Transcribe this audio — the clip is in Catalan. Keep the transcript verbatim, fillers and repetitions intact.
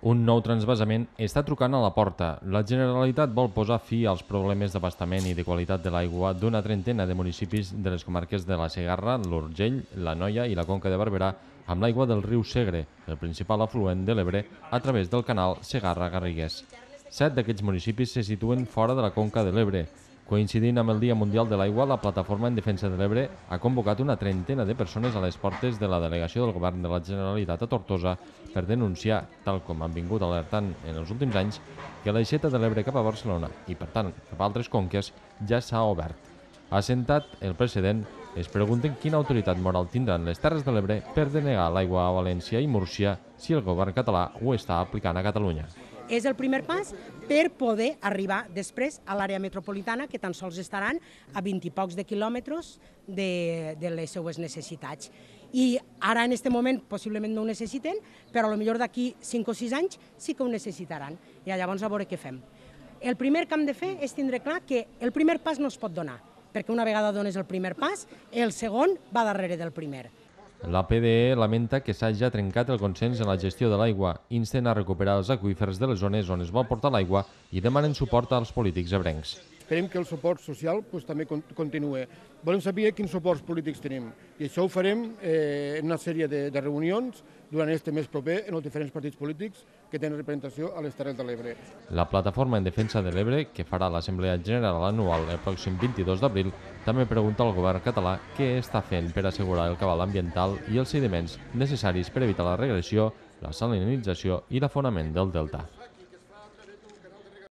Un nou transvasament està trucant a la porta. La Generalitat vol posar fi als problemes d'abastament i de qualitat de l'aigua d'una trentena de municipis de les comarques de la Segarra, l'Urgell, l'Anoia i la Conca de Barberà amb l'aigua del riu Segre, el principal afluent de l'Ebre, a través del canal Segarra-Garrigues. Set d'aquests municipis se situen fora de la Conca de l'Ebre. Coincidint amb el Dia Mundial de l'Aigua, la Plataforma en Defensa de l'Ebre ha convocat una trentena de persones a les portes de la delegació del Govern de la Generalitat a Tortosa per denunciar, tal com han vingut alertant en els últims anys, que l'aixeta de l'Ebre cap a Barcelona i, per tant, cap a altres conques, ja s'ha obert. Assentat el precedent, es pregunten quina autoritat moral tindran les Terres de l'Ebre per denegar l'aigua a València i Múrcia si el govern català ho està aplicant a Catalunya. És el primer pas per poder arribar després a l'àrea metropolitana, que tan sols estaran a vint i pocs de quilòmetres de, de les seues necessitats. I ara, en aquest moment, possiblement no ho necessiten, però potser d'aquí cinc o sis anys sí que ho necessitaran. I llavors a veure què fem. El primer que hem de fer és tindre clar que el primer pas no es pot donar, perquè una vegada dones el primer pas, el segon va darrere del primer. La P D E lamenta que s'hagi trencat el consens en la gestió de l'aigua, insten a recuperar els aqüífers de les zones on es vol portar l'aigua i demanen suport als polítics ebrencs. Esperem que el suport social pues, també continuï. Volem saber quins suports polítics tenim i això ho farem eh, en una sèrie de, de reunions durant este mes proper en els diferents partits polítics que tenen representació a les Terres de l'Ebre. La Plataforma en Defensa de l'Ebre, que farà l'Assemblea General anual el pròxim vint-i-dos d'abril, també pregunta al govern català què està fent per assegurar el cabal ambiental i els sediments necessaris per evitar la regressió, la salinització i l'afonament del delta.